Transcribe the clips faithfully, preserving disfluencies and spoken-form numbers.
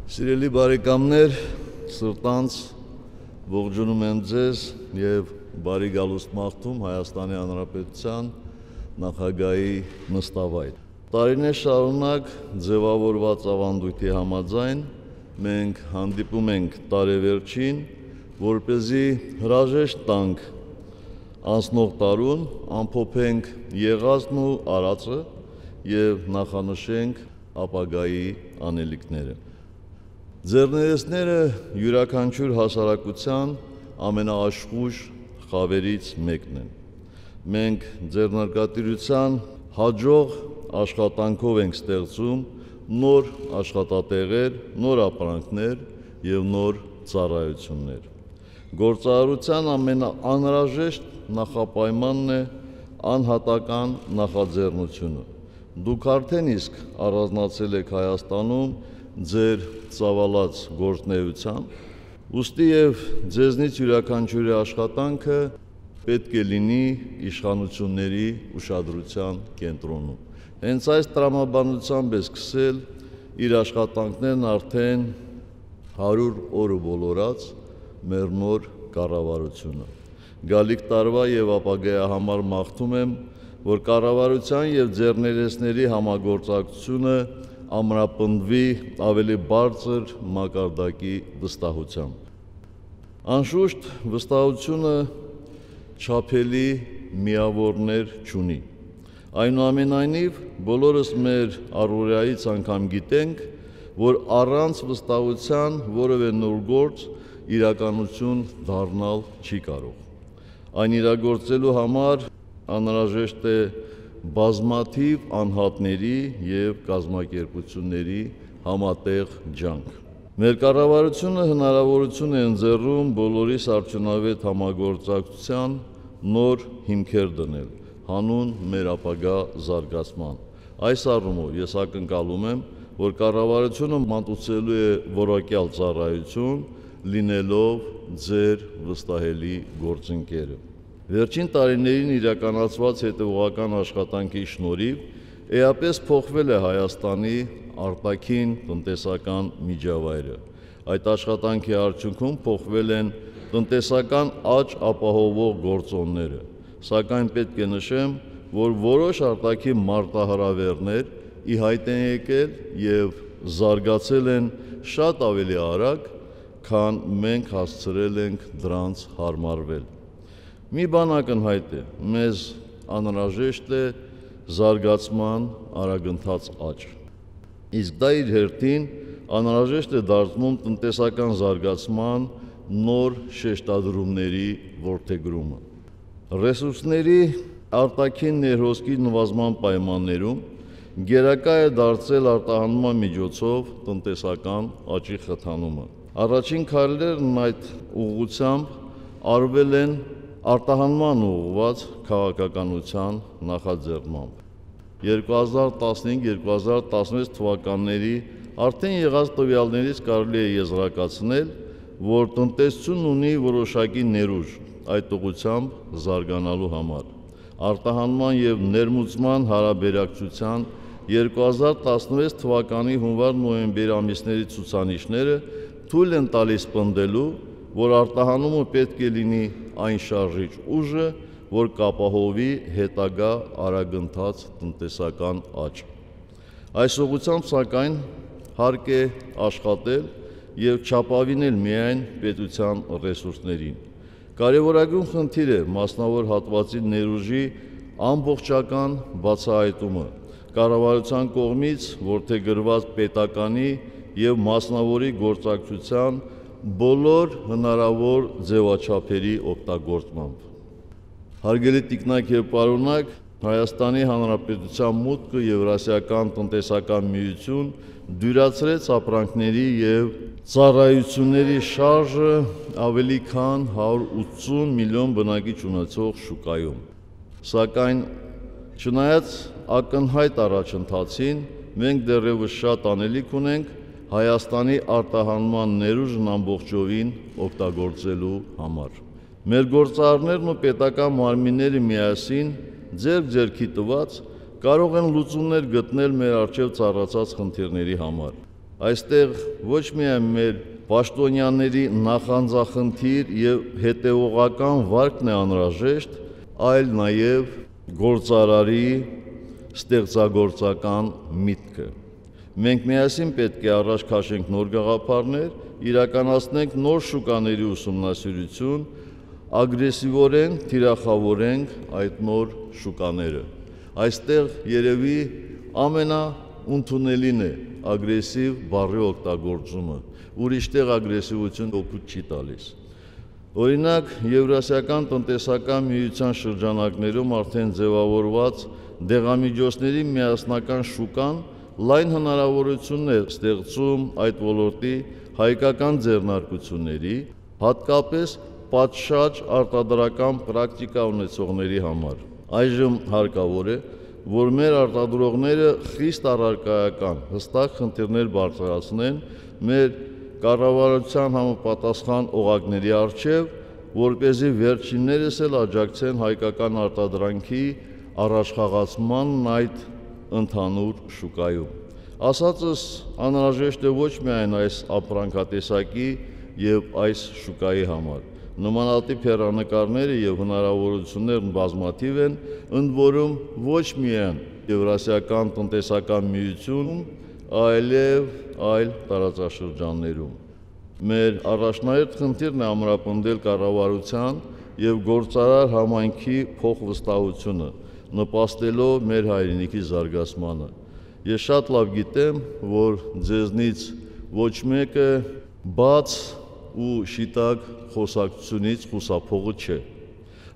Սիրելի բարեկամներ, սրտանց ողջունում եմ ձեզ եւ բարի գալուստ մաղթում Հայաստանի Հանրապետության նախագահի նստավայր։ Տարիներ շարունակ ձևավորված ավանդույթի համաձայն մենք հանդիպում ենք տարեվերջին, որպեսզի հրաժեշտ տանք անցնող տարուն, ամփոփենք եղածն ու արածը եւ նախանշենք ապագայի անելիքները։ Ձեռներեցները յուրաքանչյուր հասարակության ամենաաշխույժ խավերից մեկն են։ Մենք ձեռնարկատիրության հաջող աշխատանքով ենք ստեղծում նոր աշխատատեղեր, նոր ապրանքներ եւ նոր ծառայություններ։ Գործարարության ամենաանհրաժեշտ նախապայմանն է անհատական նախաձեռնությունը։ Դուք արդեն իսկ առանձնացել եք Հայաստանում ձեր ծավալած գործունեությամբ, ուստի եւ ձեզնից յուրաքանչյուրի աշխատանքը պետք է լինի իշխանությունների ուշադրության կենտրոնում։ Հենց այս տրամաբանությամբ է սկսել իր աշխատանքներն արդեն հարյուր օրը բոլորած մեր նոր կառավարությունը։ Գալիք տարվա եւ ապագայի համար մաղթում եմ, որ կառավարության եւ ձեռներեցների համագործակցությունը ամրապնդվի ավելի բարձր մակարդակի վստահությամբ։ Անշուշտ վստահությունը չափելի միավորներ չունի։ Այնուամենայնիվ բոլորս մեր առօրյայից անգամ գիտենք, որ առանց վստահության որևէ նոր գործ իրականություն դառնալ չի կարող։ Այն իրագործելու համար անհրաժեշտ է բազմաթիվ անհատների եւ կազմակերպությունների համատեղ ջանք։ Մեր կառավարությունը հնարավորություն է ընձեռում բոլորիս արդյունավետ համագործակցության նոր հիմքեր դնել, հանուն մեր ապագա զարգացման։ Այս առումով ես ակնկալում եմ, որ կառավարությունը մատուցելու է որակյալ ծառայություն, լինելով ձեր վստահելի գործընկերը։ Վերջին տարիներին իրականացված հետևողական աշխատանքի շնորհիվ էապես փոխվել է Հայաստանի արտաքին տնտեսական միջավայրը։ Այդ աշխատանքի արդյունքում փոխվել են տնտեսական աճ ապահովող գործոնները, սակայն պետք է նշեմ, որ որոշ արտաքին մարտահրավերներ ի հայտ են եկել եւ զարգացել են շատ ավելի արագ, քան մենք հասցրել ենք դրանց հարմարվել։ Մի բան ակնհայտ է, մեզ անհրաժեշտ է զարգացման արագընթաց աճ։ Իսկ դա իր հերթին անհրաժեշտ է դարձնում տնտեսական զարգացման նոր շեշտադրումների որդեգրումը։ Ռեսուրսների արտաքին ներհոսքի նվազման պայմաններում գերակա է դարձել արտահանման միջոցով տնտեսական աճի խթանումը։ Առաջին քայլերն այդ ուղղությամբ արվել են արտահանման ուղղված քաղաքականության նախաձեռնմամբ։ երկու հազար տասնհինգ երկու հազար տասնվեց թվականների արդեն եղած տվյալներից կարելի է եզրակացնել, որ տնտեսությունն ունի որոշակի ներուժ այդ ուղղությամբ զարգանալու համար։ Արտահանման եւ ներմուծման հարաբերակցության երկու հազար տասնվեց թվականի հունվար-նոյեմբեր ամիսների ցուցանիշները թույլ են տալիս պնդելու, որ արտահանումը պետք է լինի այն շարժիչ ուժը, որ կապահովի հետագա արագընթաց տնտեսական աճ։ Այս ուղղությամբ սակայն հարկ է աշխատել եւ չափավինել միայն պետության ռեսուրսներին։ Կարևորագույն խնդիր է մասնավոր հատվածի ներուժի ամբողջական բացահայտումը, կառավարության կողմից որդեգրված պետականի եւ մասնավորի գործակցության բոլոր հնարավոր ձևաչափերի օգտագործմամբ։ Հարգելի տիկնակ եւ պարոնակ, Հայաստանի Հանրապետության մուտքը Եվրասիական տնտեսական միություն դյուրացրեց ապրանքների եւ ծառայությունների շարժը ավելի քան հարյուր ութսուն միլիոն բնակիչ ունեցող շուկայում։ Սակայն չնայած ակնհայտ առաջընթացին, մենք դեռևս շատ անելիք ունենք Հայաստանի արտահանման ներուժն ամբողջովին օգտագործելու համար։ Մեր գործարարներն ու պետական մարմինները միասին ձեռք-ձեռքի տված կարող են լուծումներ գտնել մեր առջև ծառացած խնդիրների համար։ Այստեղ ոչ միայն մեր պաշտոնյաների նախանձախնդիր եւ հետեւողական վարկն է անհրաժեշտ, այլ նաեւ գործարարի ստեղծագործական միտքը։ Մենք միասին պետք է առաջ քաշենք նոր գաղափարներ, իրականացնենք նոր շուկաների ուսումնասիրություն, ագրեսիվորեն թիրախավորենք այդ նոր շուկաները։ Այստեղ երևի ամենաընդունելին է ագրեսիվ բառի օգտագործումը, ուրիշտեղ ագրեսիվություն օգուտ չի տալիս։ Օրինակ, Եվրասիական տնտեսական միության շրջանակներում արդեն ձևավորված դեղամիջոցների միասնական շուկան լայն հնարավորություն է ստեղծում այդ ոլորտի հայկական ձեռնարկությունների, հատկապես պատշաճ արտադրական պրակտիկա ունեցողների համար։ Այժմ հարկավոր է, որ մեր արտադրողները խիստ առարկայական, հստակ խնդիրներ բարձրացնեն մեր կառավարության համապատասխան օղակների առջև, որպեսզի վերջիններս էլ աջակցեն հայկական արտադրանքի առաջխաղացմանն այդ ընդհանուր շուկայում։ Ասածս անհրաժեշտ է ոչ միայն այս ապրանքատեսակի եւ այս շուկայի համար։ Նմանատիպ հեռանկարները եւ հնարավորություններն բազմաթիվ են, ընդ որում ոչ միայն Եվրասիական տնտեսական միությունում, այլև այլ տարածաշրջաններում։ Մեր առաջնահերթ խնդիրն է ամրապնդել կառավարության եւ գործարար համայնքի փոխվստահությունը, նպաստելով մեր հայրենիքի զարգացմանը։ Ես շատ լավ գիտեմ, որ ձեզնից ոչ մեկը բաց ու շիտակ խոսակցությունից խուսափողը չէ։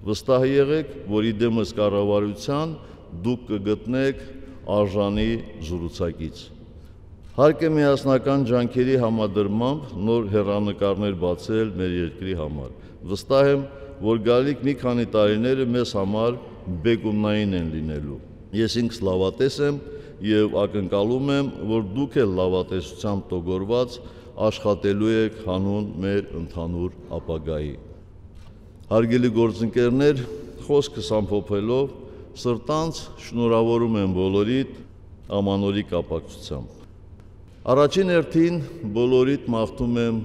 Վստահ եղեք, որ իդեմս կառավարության դուք կգտնեք արժանի զրուցակից։ Հարկ է միասնական ջանքերի համադրմամբ նոր հեռանկարներ բացել մեր երկրի համար։ Վստահ եմ, որ գալիք մի քանի տարիները մեզ համար բեկումնային են լինելու։ Ես ինքս լավատես եմ եւ ակնկալում եմ, որ դուք էլ լավատեսությամբ տոգորված աշխատելու եք հանուն մեր ընդհանուր ապագայի։ Հարգելի գործընկերներ, խոսքս ամփոփելով, սրտանց շնորհավորում եմ բոլորիդ ամանորի կապակցությամբ։ Առաջին հերթին բոլորիդ մաղթում եմ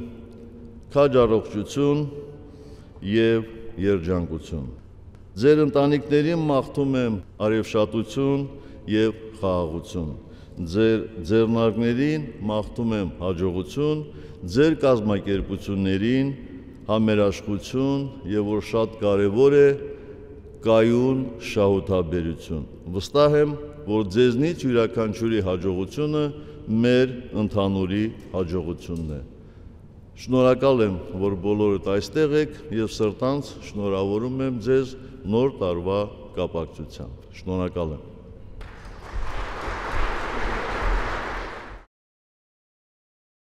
քաջ առողջություն եւ երջանկություն։ Ձեր ընտանիքներին մաղթում եմ արևշատություն եւ խաղաղություն։ Ձեր ձեռնարկներին մաղթում եմ հաջողություն, ձեր կազմակերպություններին համերաշխություն եւ որ շատ կարեւոր է կայուն շահութաբերություն։ Վստահ եմ, որ ձեզնից յուրաքանչյուրի հաջողությունը մեր ընդհանուրի հաջողությունն է։ Շնորհակալ եմ, որ բոլորդ այստեղ եք եւ սրտանց շնորհավորում եմ ձեզ նոր տարվա կապակցությամբ։ Շնորհակալ եմ։